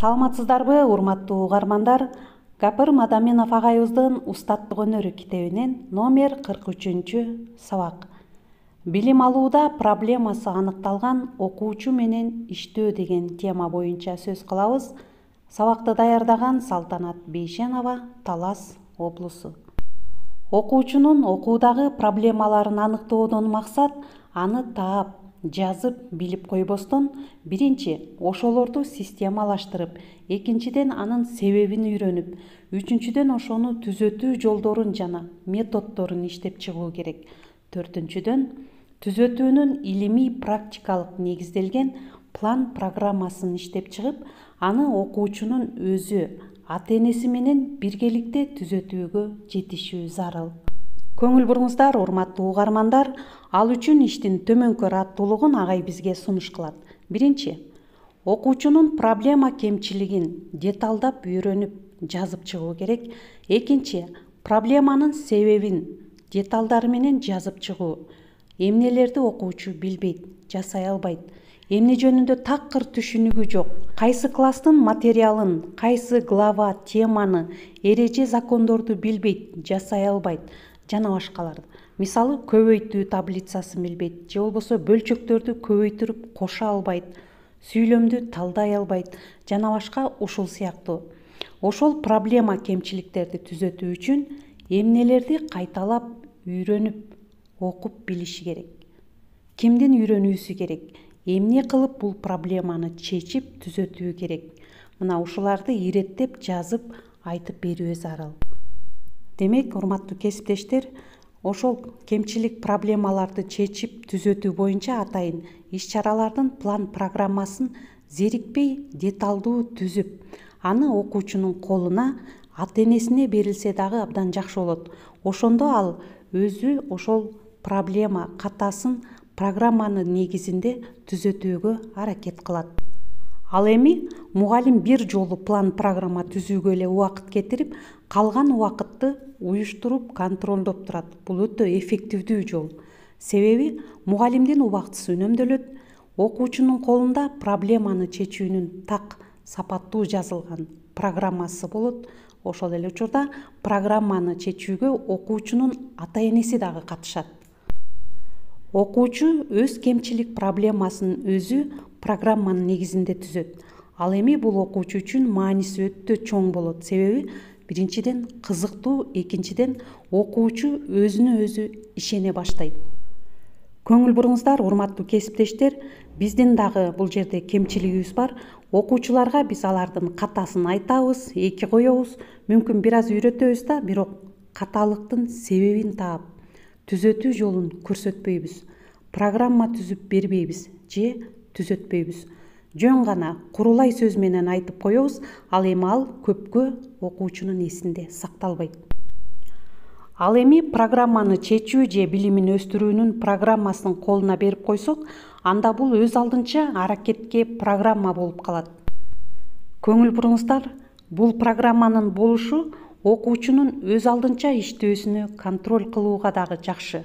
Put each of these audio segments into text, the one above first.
Саламатсыздарбы, урматтуу угармандар? Гапыр Мадаминов агайыбыздын Устаттык өнөрү китебинен номер 43 сабак. Билим алууда проблемасы аныкталган окуучу менен иштөө деген тема боюнча сөз кылабыз. Сабакты даярдаган Салтанат Бейшенова, Талас облусу. Окуучунун окуудагы проблемаларын аныктоодон максат аны таап, жазып билип койбостон, биринчи ошолорду системалаштырып, экинчиден анын себебин үйрөнүп, үчүнчүдөн ошону түзөтүү жолдорун жана методдорун иштеп чыгуу керек. Төртүнчүдөн түзөтүүнүн илимий практикалык негизделген план программасын иштеп чыгып, аны окуучунун өзү, ата-энеси менен биргеликте түзөтүүгө жетишүү зарыл. Көңүл буруңуздар, урматтуу угармандар. Ал үчүн иштин төмөнкү аттуулугун агай бизге сунуш кылат. Биринчи, окуучунун проблема кемчилигин деталдап үйрөнүп, жазып чыгуу керек. Экинчи, проблеманын себебин деталдары менен жазып чыгуу. Эмнелерди окуучу билбейт, жасай албайт, эмне жөнүндө такыр түшүнүгү жок, кайсы класстын материалын, кайсы глава, теманы, эреже закондорду билбейт, жасай албайт жана башкаларды. Мисалы, көбөйтүү таблицасын билбейт, же болбосо бөлчөктөрдү көбөйтүрүп кошо албайт, сүйлөмдү талдай албайт жана башка ушул сыяктуу. Ошол проблема кемчиликтерди түзөтүү үчүн эмнелерди кайталап үйрөнүп, окуп билиши керек. Кимдин үйрөнүүсү керек? Эмне кылып бул проблеманы чечип түзөтүү керек? Мына ушуларды иреттеп жазып айтып берүү зарыл. Демек, урматтуу кесиптештер, ошол кемчилик проблемаларды чечип түзөтүү боюнча атайын иш-чаралардын план программасын зерикпей деталдуу түзүп, аны окуучунун колуна, ата-энесине берилсе дагы абдан жакшы болот. Ошондо ал өзү ошол проблема катасын программанын негизинде түзөтүүгө аракет кылат. Ал эми мугалим бир жолу план программа түзүүгө эле убакыт кетирип, калган убакытты уюштуруп, контролдоп турат. Бул өтө эффективдүү жол. Себеби мугалимдин убактысы үнөмдөлөт, окуучунун колунда проблеманы чечүүнүн так сапаттуу жазылган программасы болот. Ошол эле учурда программаны чечүүгө окуучунун ата-энеси дагы катышат. Окуучу өз кемчилик проблемасын өзү программанын негизинде түзөт. Ал эми бул окуучу үчүн мааниси өтө чоң болот. Себеби биринчиден кызыктуу, экинчиден окуучу өзүнө өзү ишене баштайт. Көңүл буруңуздар, урматтуу кесиптештер, биздин дагы бул жерде кемчилигибиз бар. Окуучуларга биз алардын катасын айтабыз, эки коебуз, мүмкүн бир аз үйрөтөбүз да, бирок каталыктын себебин таап, түзөтүү жолун көрсөтпөйбүз, программа түзүп бербейбиз же түзөтпөйбүз. Жөн гана курулай сөз менен айтып коебуз, ал эми ал көпкө окуучунун эсинде сакталбайт. Ал эми программаны чечүү же билимин өстүрүүнүн программасын колуна берип койсок, анда бул өз алдынча аракетке программа болуп калат. Көңүл буруңуздар, бул программанын болушу окуучунун өз алдынча иштөөсүнө контроль кылууга дагы жакшы.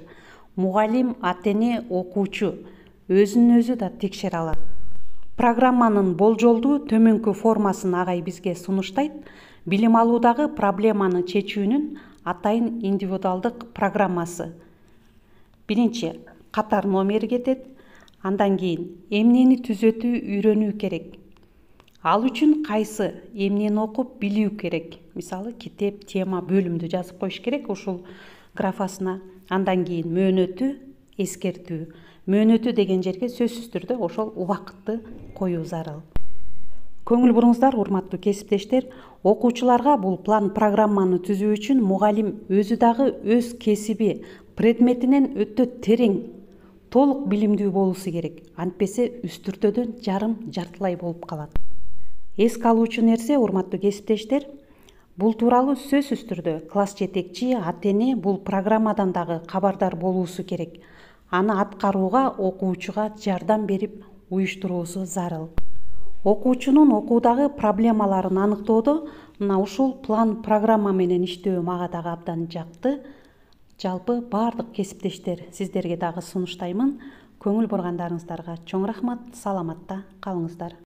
Мугалим, ата-эне, окуучу өзүн өзү да текшере алат. Программанын болжолдуу төмөнкү формасын агай бизге сунуштайт. Билим алуудагы проблеманы чечүүнүн атайын индивидуалдык программасы. Биринчи, катар номери кетет. Андан кийин эмнени түзөтүү үйрөнүү керек. Ал үчүн кайсы эмнени окуп билүү керек. Мисалы, китеп, тема, бөлүмдү жазып коюш керек ушул графасына. Андан кийин мөөнөтү, эскертүү. Мөөнөтү деген жерге сөзсүз түрдө ошол убакытты коюу зарыл. Көңүл буруңуздар, урматтуу кесиптештер, окуучуларга бул план программаны түзүү үчүн мугалим өзү дагы өз кесиби, предметинен өтө терең, толук билимдүү болуусу керек. Антпесе үстүртөдөн жартылай болуп калат. Эске алуучу нерсе, урматтуу кесиптештер, бул тууралуу сөзсүз түрдө класс жетекчи, ата-эне бул программадан дагы кабардар болуусу керек. Аны аткарууга окуучуга жардам берип уюштуруусу зарыл. Окуучунун окуудагы проблемаларын аныктоодо мына ушул план программа менен иштөө мага дагы абдан жакты. Жалпы баардык кесиптештер сиздерге дагы сунуштаймын. Көңүл бургандарыңыздарга чоң рахмат. Саламатта калыңыздар.